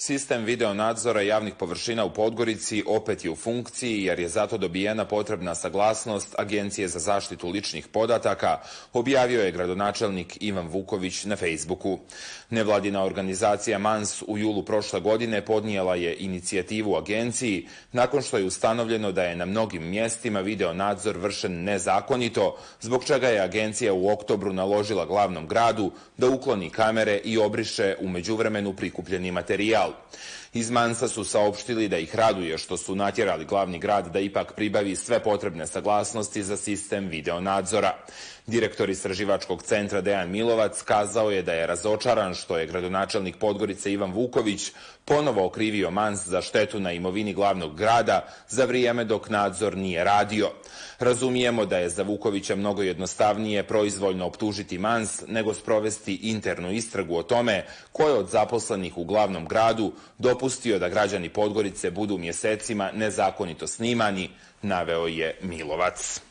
Sistem video nadzora javnih površina u Podgorici opet je u funkciji jer je zato dobijena potrebna saglasnost Agencije za zaštitu ličnih podataka, objavio je gradonačelnik Ivan Vuković na Facebooku. Nevladina organizacija MANS u julu prošle godine podnijela je inicijativu agenciji nakon što je ustanovljeno da je na mnogim mjestima video nadzor vršen nezakonito, zbog čega je agencija u oktobru naložila glavnom gradu da ukloni kamere i obriše u međuvremenu prikupljeni materijal. Iz MANS-a su saopštili da ih raduje što su natjerali glavni grad da ipak pribavi sve potrebne saglasnosti za sistem video nadzora. Direktor istraživačkog centra Dejan Milovac kazao je da je razočaran što je gradonačelnik Podgorice Ivan Vuković ponovo okrivio MANS za štetu na imovini glavnog grada za vrijeme dok nadzor nije radio. Razumijemo da je za Vukovića mnogo jednostavnije proizvoljno optužiti MANS nego sprovesti internu istragu o tome ko je od zaposlenih u glavnom gradu dopustio da građani Podgorice budu mjesecima nezakonito snimani, naveo je Milovac.